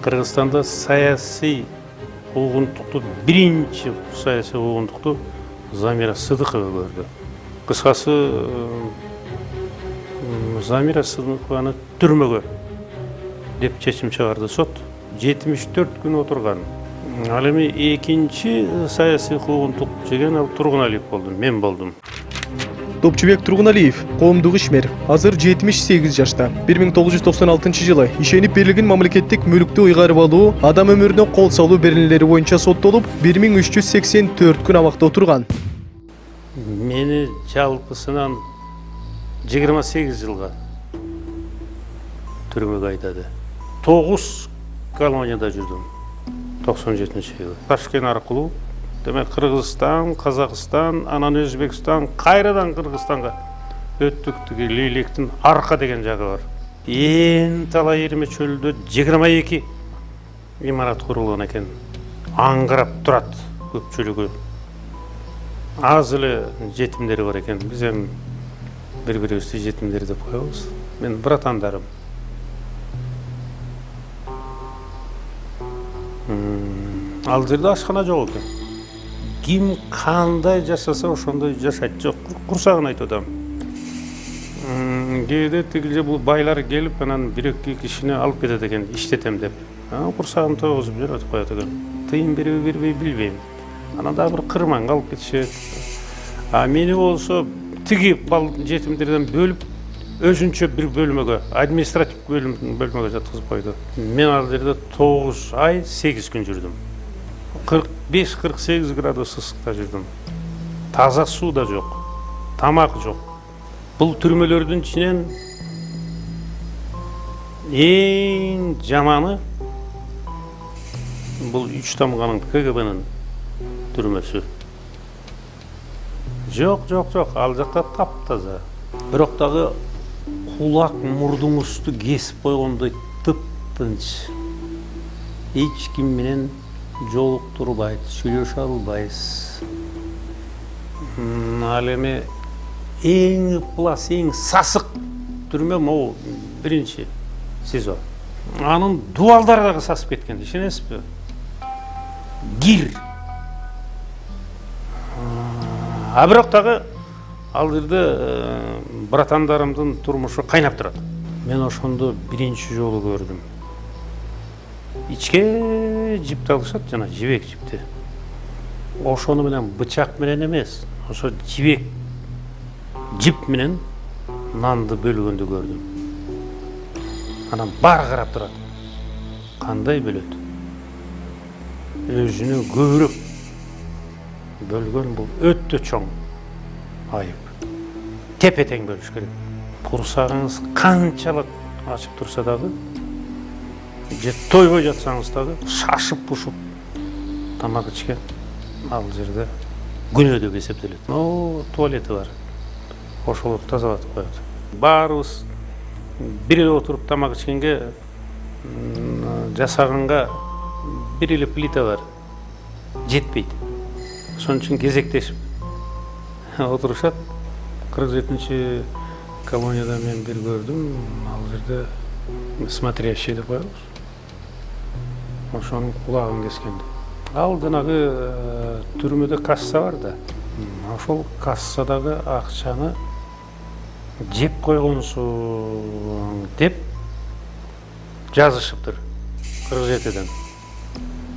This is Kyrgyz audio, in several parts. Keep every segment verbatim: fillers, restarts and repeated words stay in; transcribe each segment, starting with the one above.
Кыргызстанда саясий куугунтукту биринчи саясий куугунтукту Замира Сыдыкова көрдү. Кыскасы Замира Сыдыкованы түрмөгө деп чечим чыгарды сот. жетимиш төрт күн отурган. Ал эми экинчи саясий куугунтук жеген ал Тургуналиев болду, мен болдум. Топчубек Тургуналиев коомдук ишмер, азыр жетимиш сегиз жашта. бир миң тогуз жүз токсон алтынчы жылы ишенип берилген мамлекеттик мүлктү ыйгарып алуу, адам өмүрүнө кол салуу беренелери боюнча соттолуп, бир миң үч жүз сексен төрт күн абакта отурган. Мени жалпысынан жыйырма сегиз жылга түрмөгө айдады. тогуз колонияда жүрдүм. токсон жетинчи жылы. Ташкент аркылуу демек Кыргызстан, Казакстан, анан Өзбекстан, кайрадан Кыргызстанга өттүк. Тиги Лейлектин арка деген жагы бар. Ээн талай Ирме чөлүндө жыйырма эки имарат курулган экен. Аңгырап турат көпчүлүгү. Аз эле жетимдери бар экен. Биз эми бири-бирибизди жетимдер деп коебуз. Мен братандарым. Ал жерде ашкана жок экен. Ким кандай жашаса ошондой жашайт. Жок, курсагын айтып атам. Кээде тигилже бул байлар келип, анан бир-эки кишини алып кетет экен, иштетем деп. Курсагын тогузуп жүрөтүп коет экен. Тыйын бериби бербей билбейм. Анан дагы бир кырманга алып кетишет. А мени болсо тиги бал жетимдерден бөлүп, өзүнчө бир бөлмөгө, административ бөлмөгө жаткызып койду. Мен ал жерде тогуз ай сегиз күн жүрдүм. кырк беш кырк сегиз градус ысыкта жүрдүм. Таза суу да жок, тамак жок. Бул түрмөлөрдүн ичинен эң жаманы бул үч тамганын КГБнын түрмөсү. Жок, жок, жок, ал жакта таптаза. Бирок дагы кулак мурдуңузду кесип койгондой тып-тынч. Эч ким менен жолуктурбайт, сүйлөшө албайсыз. Ал эми эң ыплас, эң сасык түрмө могу биринчи СИЗО. Анын дубалдары дагы сасып кеткен, ишенесизби? Гир. А бирок дагы ал жерде братандарымдын турмушу кайнап турат. Мен ошондо биринчи жолу көрдүм. Ичке жипти алышат, жана жибек жипти. Ошону менен бычак менен эмес, ошо жибек жип менен нанды бөлгөндү көрдүм. Анан баары карап турат. Кандай бөлөт? Өзүнө көбүрөөк бөлгөн бул өтө чоң айып. Тепе-тең бөлүш керек. Курсагыңыз канчалык ачып турса дагы, же тойбой жатсаңыз дагы, шашып-пушуп тамак ичкен ал жерде күнөө деп эсептелет. Но туалети бар. Ошолор тазалатып коет. Баарыбыз бир эле отуруп тамак ичкенге жасаганга бир эле плита бар. Жетпейт. Ошон үчүн кезектешип отурушат. кырк жетинчи колонияда мен бир көрдүм. Ал жерде смотрящий деп коебуз. Ошонун кулагын кескенди. Ал жанагы түрмөдө касса бар да. Ошол кассадагы акчаны жеп койгонсуң деп жазышыптыр. кырк жетиден.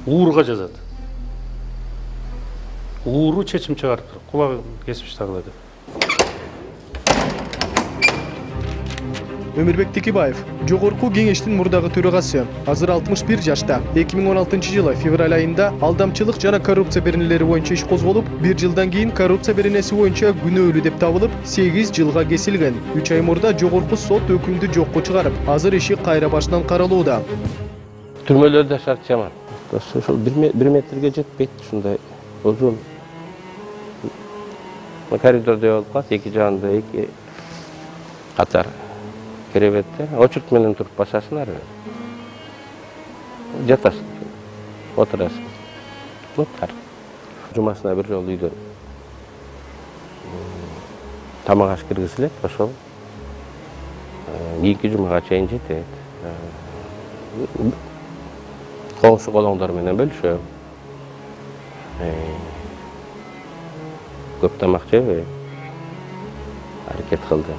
Уурга жазат. Ууру чечим чыгарыптыр. Кулагын кесип таштагыла деп. Өмүрбек Текебаев, жогорку кеңештин мурдагы төрагасы, азыр алтымыш бир жашта. эки миң он алтынчы жылы февраль айында алдамчылык жана коррупция беренелери боюнча иш козголуп, бир жылдан кийин коррупция беренеси боюнча күнөөлүү деп табылып, сегиз жылга кесилген. үч ай мурда жогорку сот өкүмдү жокко чыгарып, азыр иши кайра башынан каралууда. Түрмөлөрдө шарт жаман. Ошол бир метрге жетпейт, ушундай узун. Коридордо болуп калат, эки жагында эки катар керебетте. Очурт менен туруп басасың ары. Жатасың, отурасың. Муттар. Жумасына бир жолу үйдөн тамак аш киргизилет, ошол кийинки жумага чейин жетет. коңшу колоңдор менен бөлүшөм. Көп тамак жебейм. Аракет кылдым.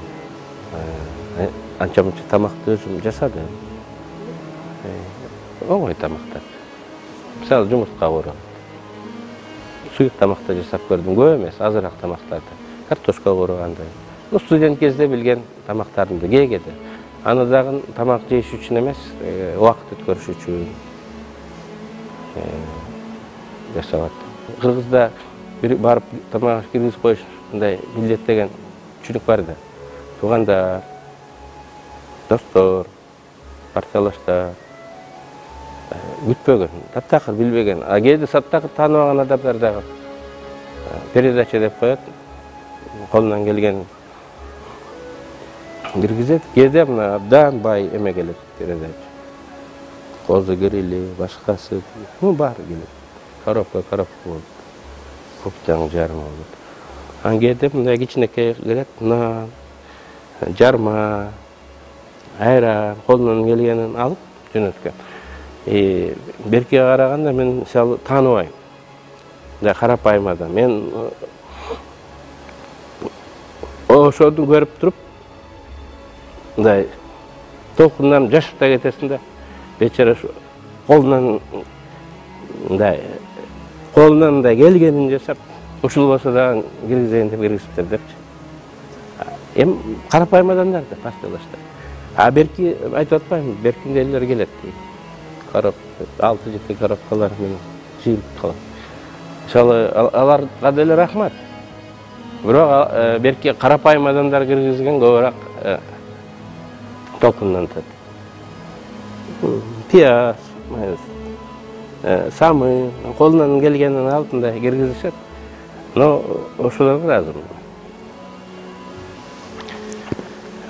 Анча мынча тамакты өзүм жасадым. Оңой тамактар. Мисалы жумуртка кууруп. Суюк тамакта жасап көрдүм, көп эмес, азыраак тамактарды. Картошка куургандай. Ну, студент кезде билген тамактарымды кээде. Аны дагы тамак жеш үчүн эмес, убакыт өткөрүш үчүн жасап аттым. Кыргызда барып тамак киргизип коюш мындай милдеттеген чүнүк бар да. Туугандар, достор, партиялаштар күтпөгөн, таптакыр билбеген, а кээде таптакыр тааныбаган адамдар дагы передача деп коет, колунан келген киргизет. Кээде мына абдан бай эме келет передача. Козу грили, башкасы, ну бар келет. Коробка, коробка болот. Коптаң жарма болот. Ан кээде мындай кичинекей келет, нан, жарма, айран, колунан келгенин алып жөнөткөн. Беркиге караганда мен мисалы тааныбайм. Мындай карапайым адам. Мен ошону көрүп туруп мындай толкундан жашып да кетесиң да. Бечара колунан мындай колунан мындай келгенин жасап, ушул болсо дагы киргизейин деп киргизиптир депчи. Эми карапайым адамдар да партиялаштар. А берки айтып атпаймынбы, беркиндейлер келет дейт. Карап, алты жети коробкалар менен жыйылып калат. Мисалы, аларга деле рахмат. Бирок берки карапайым адамдар киргизген көбүрөөк толкундан тат. Пияз, самы, колунан келгенин алып мындай киргизишет. Но ошолорго ыраазымын.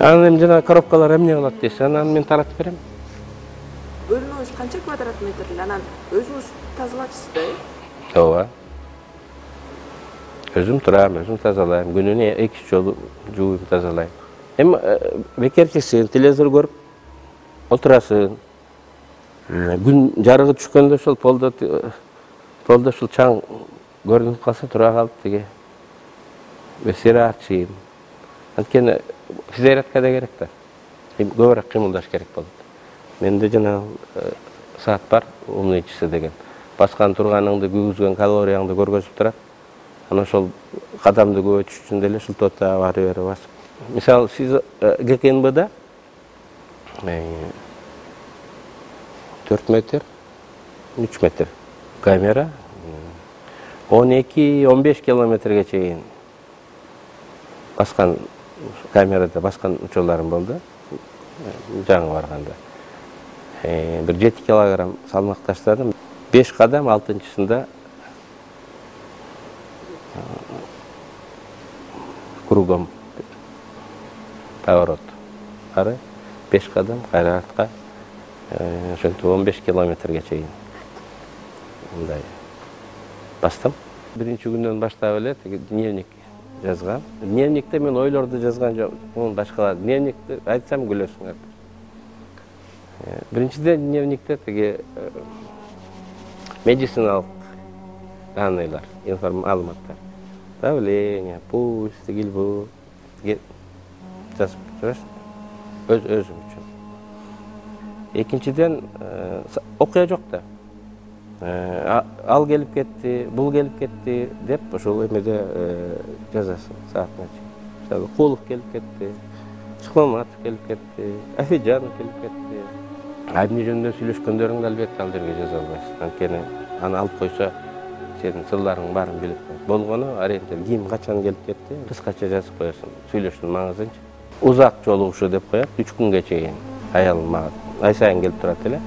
Анан эми жана коробкалар эмне кылат десе, анан мен таратып берем. Бөлмөңүз канча квадрат метр эле? Анан өзүңүз тазалачысыз да, э? Ооба. Өзүм турам, өзүм тазалайм. Күнүнө эки жолу жууйм, тазалайм. Эми бекерчисин, телевизор көрүп отурасың. Күн жарыгы түшкөндө ошол полдо полдо ушул чаң көрүнүп калса тура калып тиги бесирачийм. Анткени физиотерапия керек да. Көбүрөөк кыймылдаш керек болот. Менде жана саат бар, умный часы деген. Баскан турганыңды, күйгүзгөн калорияңды көргөзүп турат. Анан ошол кадамды көбөйтүш үчүн деле шылтота бары бери басып. Мисалы, сиз ГКНБда төрт метр, үч метр камера он эки он беш километрге чейин баскан камерада баскан учурларым болду. Жаңы барганда. Бир жети килограмм салмак таштадым. беш кадам, алтынчысында кругом поворот. Ары беш кадам кайра артка. Ошентип он беш километрге чейин мындай бастым. Биринчи күндөн баштап эле дневник жазгам. Дневникте мен ойлорду жазган жок, муну башкалар. Дневникти айтсам күлөсүңөр. Биринчиден дневникте тиги медициналык данныйлар, маалыматтар. Давление, пульс, тигилбу жазып жүрөсүң. Өз өзүм үчүн. Экинчиден окуя жок да. Ал келип кетти, бул келип кетти деп ошол эмеде жазасың саатына чейин. Мисалы, Кулов келип кетти, Шыкмаматов келип кетти, Афиджанов келип кетти. Эмне жөнүндө сүйлөшкөндөрүңдү албетте ал жерге жаза албайсың. Анткени аны алып койсо сенин сырларың баарын билип коет. Болгону ориентир ким качан келип кетти, кыскача жазып коесуң сүйлөшүүнүн маңызынчы. Узак жолугушуу деп коет, үч күнгө чейин. Аялым мага ай сайын келип турат эле.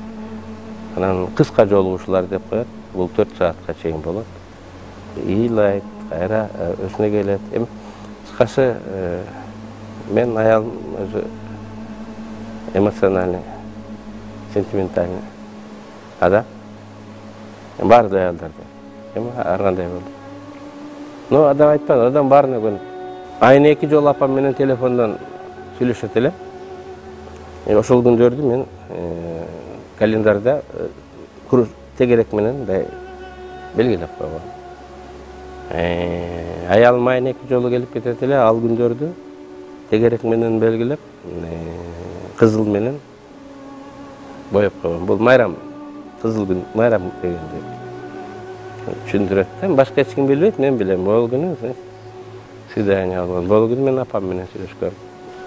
Анан кыска жолугушуулар деп коет, бул төрт саатка чейин болот. Ыйлайт, кайра өзүнө келет. Эми кыскасы мен аялым өзү эмоциональный, сентиментальный адам. Бар да аялдарда. Эми ар кандай болду. Но адам айтпады, адам баарына көнүп. Айына эки жолу апам менен телефондон сүйлөшөт эле. Ошол күндөрдү мен календарда тегерек менен мындай белгилеп койгон. Аялым айына эки жолу келип кетет эле, ал күндөрдү тегерек менен белгилеп, кызыл менен боеп койгон. Бул майрам, кызыл күн, майрам дегенди түшүндүрөт да. Башка эч ким билбейт, мен билем. Бул күнү свидание алган. Бул күнү мен апам менен сүйлөшкөм.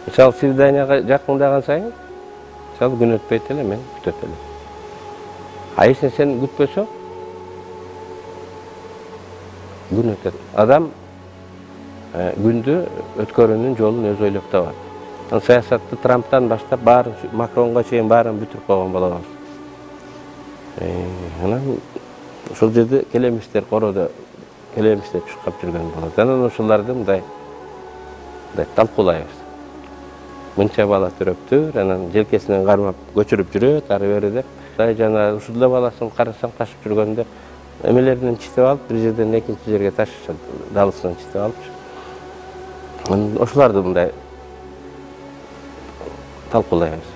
Мисалы свиданияга жакындаган сайын, мисалы күн өтпөйт эле, мен күтөт элем. А если сен күтпөсөң, күн өтөт. Адам күндү өткөрүүнүн жолун өзү ойлоп табат. Саясатты Трамптан баштап баарын, Макронго чейин баарын бүтүрүп койгон болобуз. Анан ошол жерде келемиштер, короодо келемиштер чуркап жүргөн болот. Анан ошолорду мындай мындай талкуулайбыз. Мынча бала төрөптүр, анан желкесинен кармап көчүрүп жүрөт, ары бери деп. Жана ушул баласын карасаң ташып жүргөндө эмелеринен читип алып, бир жерден экинчи жерге ташышат, далысынан читип алыпчы. Ошолорду мындай талкуулайбыз.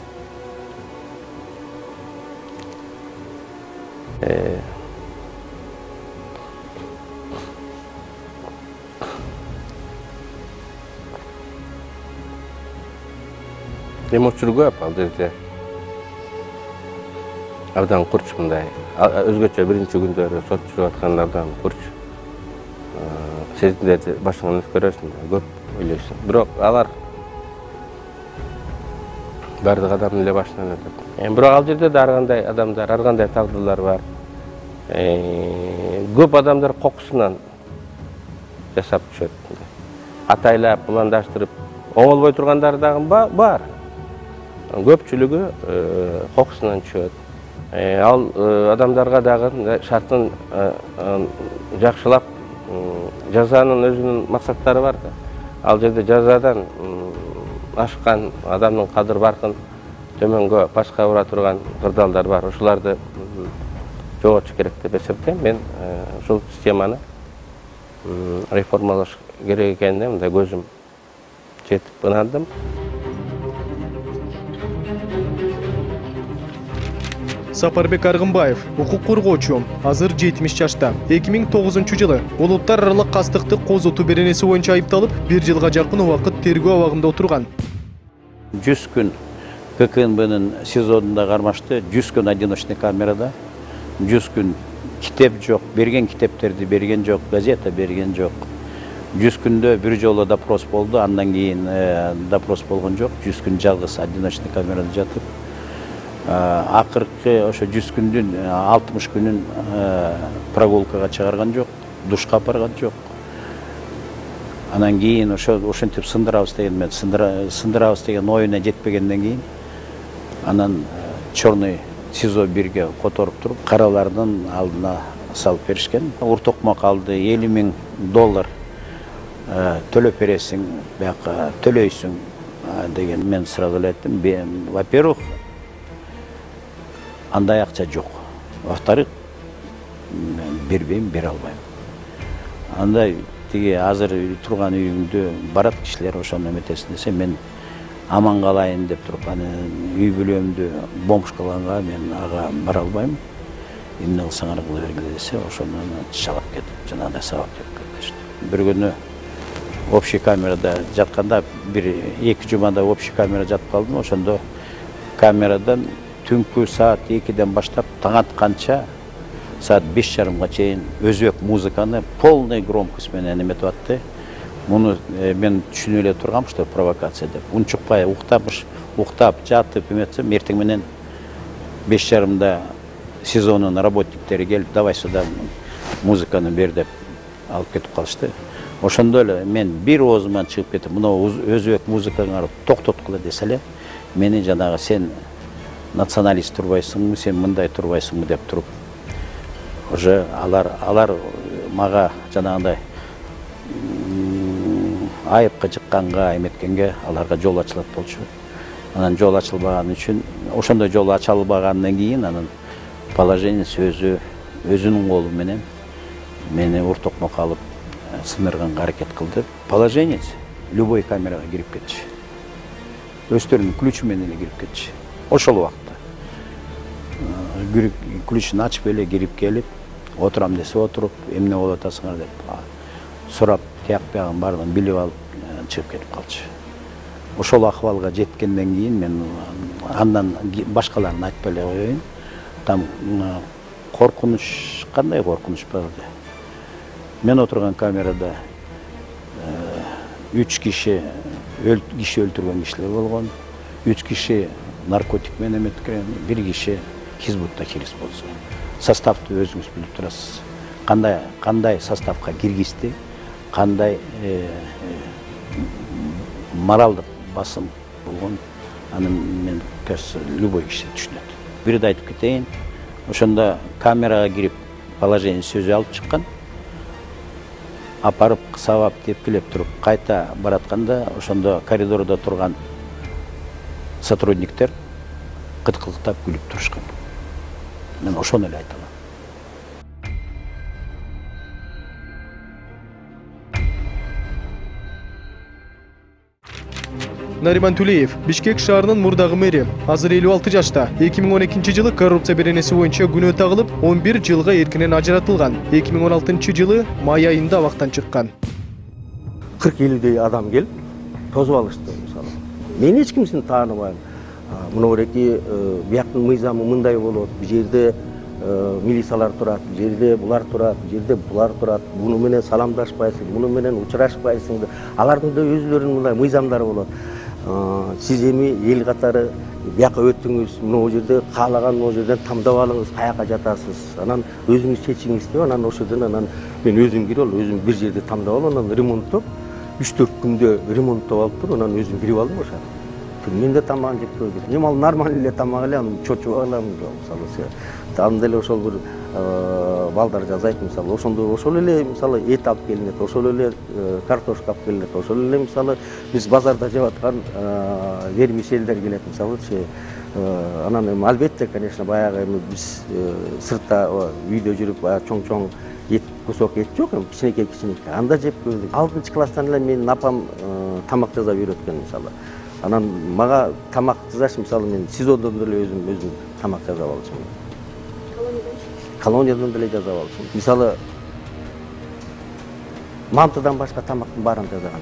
Эми учур көп ал жерде. Абдан курч мындай. Өзгөчө биринчи күндөрү сот жүрүп аткандардан курч. Сезимдерди башыңан өткөрөсүң, көп ойлойсуң. Бирок алар бардык адамдын эле башынан өтөт. Бирок ал жерде да ар кандай адамдар, ар кандай тагдырлар бар. Көп адамдар кокусунан жасап түшөт. Атайлап, пландаштырып, оңолбой тургандары дагы бар. Көпчүлүгү кокусунан түшөт. Ал адамдарга дагы шартын жакшылап, жазанын өзүнүн максаттары бар да. Ал жерде жазадан ашкан адамдын кадыр баркын төмөнгө пашка ура турган кырдаалдар бар. Ошолорду жоготуш керек деп эсептейм. Мен ушул системаны реформалаш керек экенине мындай көзүм жетип ынандым. Сапарбек Аргынбаев, укук коргоочу, азыр жетимиш жашта. эки миң тогузунчу жылы улуттар аралык кастыкты козотуу беренеси боюнча айыпталып, бир жылга жакын убакыт тергөө абагында отурган. жүз күн К К Н Б'нин СИЗОдунда кармашты, жүз күн одиночный камерада, жүз күн китеп жок, берген китептерди берген жок, газета берген жок. жүз күндө бир жолу допрос болду, андан кийин допрос болгон жок, жүз күн жалгыз одиночный камерада жатып. Акыркы ошо жүз күндүн алтымыш күнүн прогулкага чыгарган жок, душка апарган жок. Анан кийин ошо ошентип сындырабыз деген мен сындырабыз деген оюна жетпегенден кийин анан черный СИЗО бирге которуп туруп каралардын алдына салып беришкен. Уртокмок алды, элүү миң доллар төлөп бересиң, бияка төлөйсүң деген мен сразу эле айттым. Во-первых, андай акча жок. Во-вторых, бербейм, бере албайм. Андай тиги азыр турган үйүңдө барат кишилер ошону эметесин десе, мен аман калайын деп туруп, аны үй бүлөмдү бомжкаланга мен ага бара албайм. Эмне кылсаңар кыла бергиле десе, ошону чалап кетип, жанагындай сабап кетишти. Бир күнү общий камерада жатканда, бир эки жумада общий камерада жатып калдым. Ошондо камерадан түнкү саат экиден баштап таң атканча саат беш жарымга чейин өзбек музыканы полный громкость менен эметип атты. Муну мен түшүнүп эле тургам, что провокация деп. Унчукпай уктап, уктап жатып эметсем, эртең менен беш жарымда СИЗОнун работниктери келип, давай сюда музыканы бер деп алып кетип калышты. Ошондо эле мен бир оозуман чыгып кетип, мына өзбек музыкаңарды токтоткула десе эле, мени жанагы сен националист турбайсыңбы, сен мындай турбайсыңбы деп туруп, уже алар алар мага жанагындай айыпка жыкканга, эметкенге аларга жол ачылат болчу. Анан жол ачылбаган үчүн, ошондой жол ачылбагандан кийин анан положение сөзү өзүнүн колу менен мени уртокмок алып сындырганга аракет кылды. Положение любой камерага кирип кетчү. Өздөрүнүн ключу менен эле кирип кетчү. Ошол убакта. ключун ачып эле кирип келип, отурам десе отуруп, эмне болуп атасыңар деп сурап, тияк биягын баардыгын билип алып чыгып кетип калчу. Ошол акыбалга жеткенден кийин мен андан башкаларын айтпай эле коеюн. Там коркунуч, кандай коркунуч болду. Мен отурган камерада үч киши киши өлтүргөн кишилер болгон, үч киши наркотик менен эметкен, бир киши хизбутта кириз болсо. Составты өзүңүз билип турасыз. Кандай кандай составка киргизди, кандай моралдык басым болгон, аны мен кажется любой киши түшүнөт. Бирди айтып кетейин, ошондо камерага кирип положение сөзү алып чыккан. Апарып сабап тепкилеп туруп кайта баратканда ошондо коридордо турган сотрудниктер кыткылыктап күлүп турушкан. Мен ошону эле айта алам. Нариман Тулеев, Бишкек шаарынын мурдагы мэри, азыр элүү алты жашта. эки миң он экинчи жылы коррупция беренеси боюнча күнөө тагылып, он бир жылга эркинен ажыратылган. эки миң он алтынчы жылы май айында абактан чыккан. кырк элүүдөй адам келип тосуп алышты мисалы. Мен эч кимсин тааныбайм. Мынауреки бияктын мыйзамы мындай болот. Бул жерде милициялар турат, бул жерде булар турат, бул жерде булар турат. Буну менен саламдашпайсың, буну менен учурашпайсың. Алардын да өзлөрүнүн мындай мыйзамдары болот. Сиз эми эл катары бияка өттүңүз, могу жерде каалаган могу жерден тамдап алыңыз, каяка жатасыз. Анан өзүңүз чечиңиз деп, анан ошол жерден анан мен өзүм кирип алып, өзүм бир жерде тамдап алып, анан ремонттоп, үч төрт күндө ремонттоп алып туруп, анан өзүм кирип алдым ошо. Мен да тамагын жеп койдум. Эми ал нормалдуу эле тамак эле, аны чочуп алам, мисалы. Анда эле ошол бир балдар жазайт, мисалы, ошондо ошол эле мисалы эт алып келинет, ошол эле картошка алып келинет, ошол эле мисалы биз базарда жеп аткан вермишелдер келет, мисалычы. Анан эми албетте, конечно, баягы эми биз сыртта үйдө жүрүп баягы чоң-чоң эт, кусок эт жок, эми кичинекей-кичинекей. Анда жеп көрдүк. алтынчы класстан эле менин апам тамак жасап үйрөткөн, мисалы. Анан мага тамак жасаш, мисалы мен СИЗОдон деле өзүм өзүм тамак жасап алчумун. Колониядан деле жасап алчумун. Мисалы мантыдан башка тамактын баарын жасаган.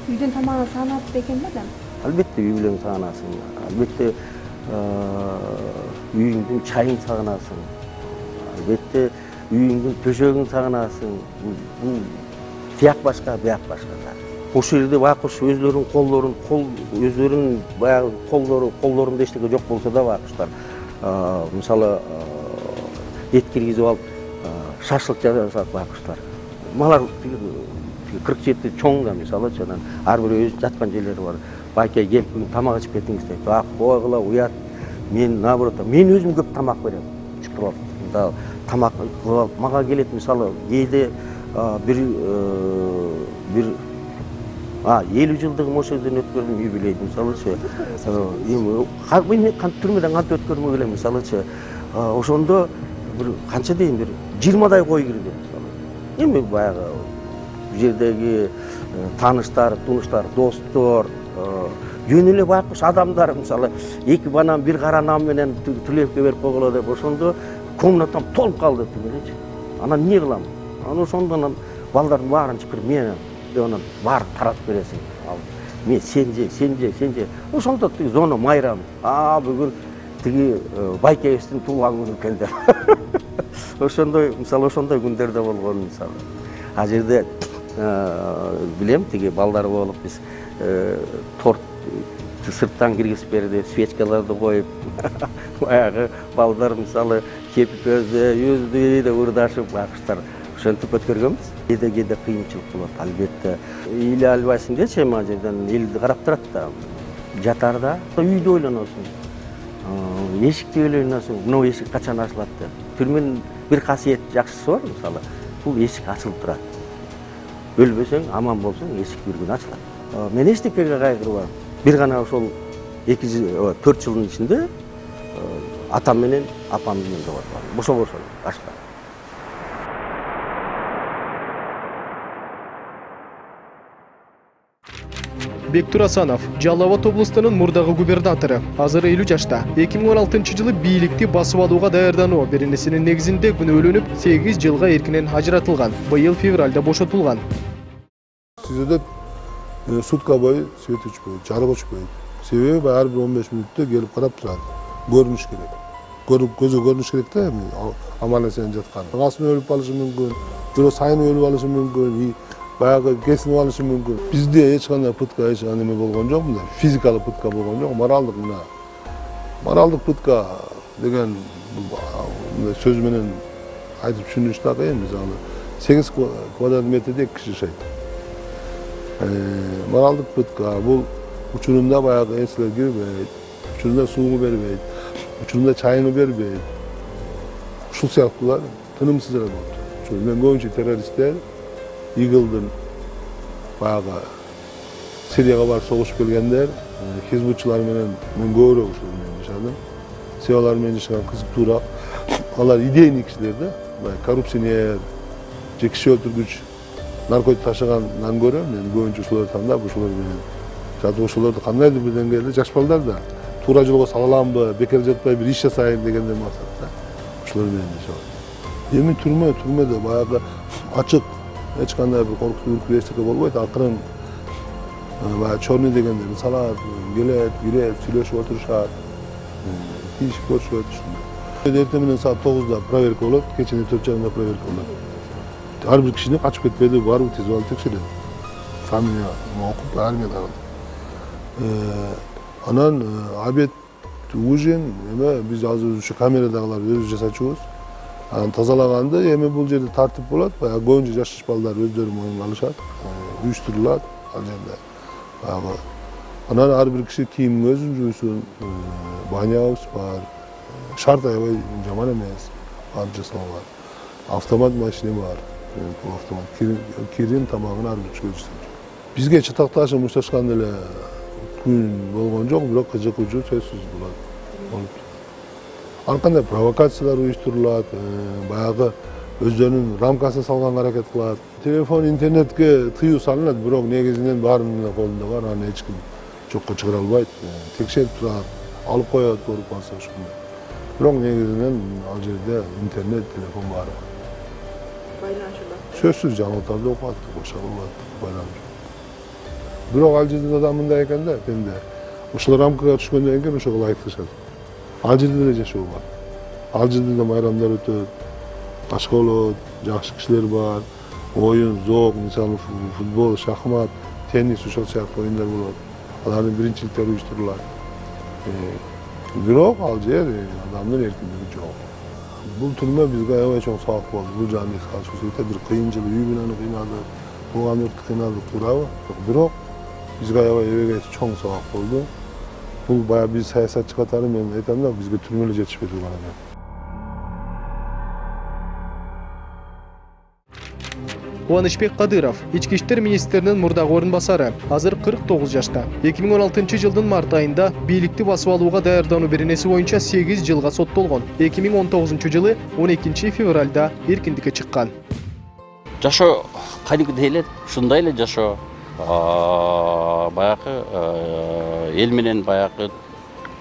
Үйдөн тамагын саанат экен да? Албетте үй бүлөң сагынасың. Албетте үйүңдүн чайын сагынасың. Албетте үйүңдүн төшөгүн сагынасың. Бул тияк башка, бияк башка. Ошол жерде байкуш өзлөрүнүн колдорун, кол өзлөрүнүн баягы колдору, колдорунда эчтеке жок болсо да байкуштар мисалы эт киргизип алып шашлык жасашат байкуштар. Малар кырк жети чоң да мисалычы, анан ар бирөө өз жаткан жерлери бар. Байке келип тамак ичип кетиңиз дейт. А койгула уят. Мен наоборот, мен өзүм көп тамак берем. Чукуруп алып. Тамак кылып алып мага келет мисалы кээде бир бир А, элүү жылдыгым ошол жерден өткөрдүм, юбилейди, мисалычы. Эми мен кантип түрмөдөн кантип өткөрмөк элем, мисалычы. Ошондо бир канча дейм бир жыйырмадай кой кирди, мисалы. Эми баягы бул жердеги тааныштар, тунуштар, достор, жөн эле байкуш адамдар, мисалы, эки банан бир кара нан менен Тулеевке берип койгула деп, ошондо комнатам толуп калды түгүлөчү. Анан эмне кылам? Анан ошондон балдардын баарын чакырып мен анан баарын таратып бересиң. Ал мен сен же, сен же, сен же. Ошондо тиги зона майрам. А бүгүн тиги байкебиздин туулган күнү экен деп. Ошондой, мисалы, ошондой күндөр да болгон, мисалы. А жерде билем, тиги балдар болуп биз торт сырттан киргизип берди, свечкаларды коюп, баягы балдар мисалы кепип өзү, yüzdü урдашып байкуштар. Ошентип өткөргөнбүз. Кээде-кээде кыйынчылык болот, албетте. Эле албайсың дечи, ма жерден элди карап турат да. Жатарда үйдү ойлоносуң. Эшикти ойлоносуң. Мына эшик качан ачылат деп. Түрмөнүн бир касиет жакшысы бар, мисалы. Бул эшик ачылып турат. Өлбөсөң, аман болсоң, эшик бир күн ачылат. Мен эчтекеге кайгырбайм. Бир гана ошол эки төрт жылдын ичинде атам менен апам менен жоготкон. Бошо-бошо башка. Бектур Асанов Жалал Абад облустунун мурдагы губернатору. Азыр элүү жашта. эки миң он алтынчы жылы бийликти басып алууга даярдануу беренесинин негизинде күнөөлөнүп сегиз жылга эркинен ажыратылган. Быйыл февралда бошотулган. Сизде сутка бою свет өчпөйт, жарык өчпөйт. Себеби ар бир он беш мүнөттө келип карап турат. Көрүнүш керек. Көрүп көзгө көрүнүш керек да, аман эсен жаткан. Касым өлүп калышы мүмкүн, бирөө сайын өлүп алышы мүмкүн, баягы кесинип алышы мүмкүн. Бизде эч кандай пытка, эч кандай эме болгон жок, мындай физикалык пытка болгон жок, моралдык мына. Моралдык пытка деген мындай сөз менен айтып түшүнүш так эми, мисалы сегиз квадрат метрде эки киши жашайт. Моралдык пытка бул учурунда баягы эслер кирбейт, учурунда сууну бербейт, учурунда чайını бербейт. Ушул сыяктуулар тынымсыз эле болот. Мен көбүнчө террористтер Игылдын баягы Сирияга барып согушуп келгендер, хизбутчулар менен мен көбүрөөк ушул менен жашадым. Себалар менен жашаган кызыктуураак. Алар идейный кишилер да, коррупционер, же киши өлтүргүч, наркотик ташыгандан көрө мен көбүнчө ушуларды тандап, ушулар менен жатып ошолорду кандайдыр бир деңгээлде жаш балдар да туура жолго сала аламбы, бекер жатпай бир иш жасайын дегенден максатта ушулар менен жашап. Эми түрмө, түрмөдө баягы ачык, эч кандай бир коркутуу үркүү эчтеке болбойт. Акырын баягы чорный дегендерди салат, келет, кирет, сүйлөшүп отурушат, тийишип көрүшөт ушундай. Эртең менен саат тогузда проверка болот, кечинин төрт жагында проверка болот. Ар бир кишини качып кетпеди, барбы тез алып текшерет. Фамилия окуп, армияда. Анан обед, ужин, эме биз азыр ушу камерадагылар өзүбүз жасачубуз. Анан тазалаганды эми бул жерде тартип болот. Баягы көбүнчө жаш балдар өздөрү моюнга алышат, уюштурулат ал жерде. Баягы анан ар бир киши кийимин өзү жуйсун, банябыз бар. Шарт аябай жаман эмес, барып жасалган. Автомат машина бар. Бул автомат кирим тамагын ар бир киши өзү жасайт. Бизге чатакташып мушташкан эле күн болгон жок, бирок кызыгуучу сөзсүз болот. Ар кандай провокациялар уюштурулат, баягы өздөрүнүн рамкасына салганга аракет кылат. Телефон, интернетке тыюу салынат, бирок негизинен баарынын колунда бар, аны эч ким жокко чыгара албайт. Текшерип турат, алып коет, көрүп калса ошондой. Бирок негизинен ал жерде интернет, телефон бар. Байланышында. Сөзсүз жаңылыктарды окуат, башка кылат, байланыш. Бирок ал жердин адамы мындай экен да, пенде. Ушул рамкага түшкөндөн кийин ошого ылайыкташат. Ал жерде деле жашоо бар. Ал жерде да майрамдар өтөт, башка болот, жакшы кишилер бар, оюн, зоок, мисалы футбол, шахмат, теннис ошол сыяктуу оюндар болот. Алардын биринчиликтери уюштурулат. Бирок ал жер адамдын эркиндиги жок. Бул түрмө бизге аябай чоң сабак болду. Бул жагын эске алыш керек. Бир кыйын жыл үй бүлөнү кыйнады, тууган өрттү кыйнады, туурабы? Бирок бизге аябай эбегей чоң сабак болду. Бул баягы биз саясатчы катары мен айтам да, бизге түрмө эле жетишпей турган экен. Кубанычбек Кадыров, ички иштер министринин мурдагы орун басары, азыр кырк тогуз жашта. эки миң он алтынчы жылдын март айында бийликти басып алууга даярдануу беренеси боюнча сегиз жылга соттолгон. эки миң он тогузунчу жылы он экинчи февралда эркиндикке чыккан. Жашоо кадимки эле ушундай эле жашоо. Баягы эл менен баягы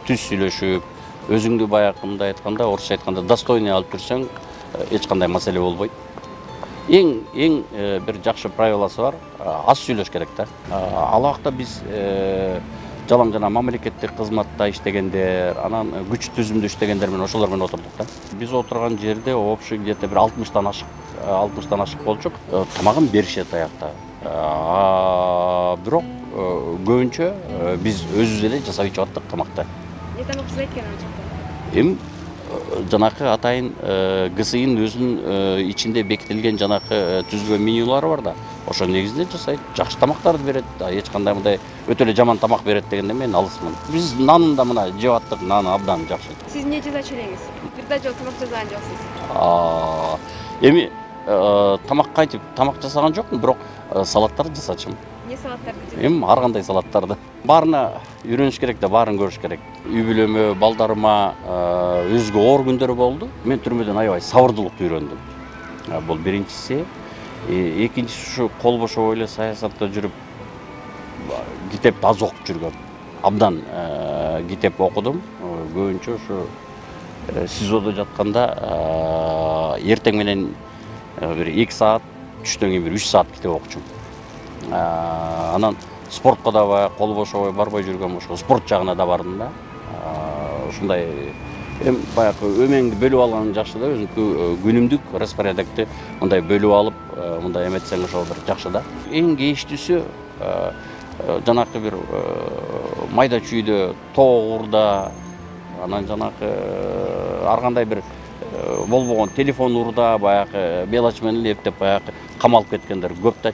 түз сүйлөшүп, өзүңдү баягы мындай айтканда, орусча айтканда достойный алып жүрсөң, эч кандай маселе болбойт. Эң эң бир жакшы правиласы бар, аз сүйлөш керек да. Ал убакта биз жалаң жана мамлекеттик кызматта иштегендер, анан күч түзүмдө иштегендер менен ошолор менен отурдук да. Биз отурган жерде общий где-то бир алтымыштан ашык, алтымыштан ашык болчук. Тамагын беришет аякта. Бирок көбүнчө биз өзүбүз эле жасап ичип аттык тамакты. Эмне тамак жасайт экен ачыкта? Эми жанакы атайын ГСИнин өзүнүн ичинде бекитилген жанакы түзүлгөн менюлары бар да. Ошо негизинде жасайт, жакшы тамактарды берет. Эч кандай мындай өтө эле жаман тамак берет дегенде мен алысмын. Биз нанын да мына жеп аттык, наны абдан жакшы. Сиз эмне жасачу элеңиз? Бир да жол тамак жасаган жоксуз. Эми тамак кайтип тамак жасаган жокмун, бирок салаттарды жасачумун. Эмне салаттарды жасайсыз? Эми ар кандай салаттарды. Баарына үйрөнүш керек да, баарын көрүш керек. Үй бүлөмө, балдарыма өзгө оор күндөрү болду. Мен түрмөдөн аябай сабырдуулукту үйрөндүм. Бул биринчиси. Экинчиси ушу кол бошобой эле саясатта жүрүп китепти аз окуп жүргөм. Абдан китеп окудум. Көбүнчө ушу СИЗОдо жатканда эртең менен бир эки саат, түштөн кийин бир үч саат китеп окучумун. Анан спортко да кол бошобой барбай жүргөм, ошо спорт жагына да бардым да. Ушундай эми баягы өмөңдү бөлүп алган жакшы да, өзүнүн күнүмдүк распорядокты мындай бөлүп алып, мындай эметсең ошол бир жакшы да. Эң кейиштүүсү жанакы бир майда чүйдө тоогурда, анан жанакы ар кандай бир болбогон телефон урда, баягы мелочь менен эптеп баягы камалып кеткендер көп да.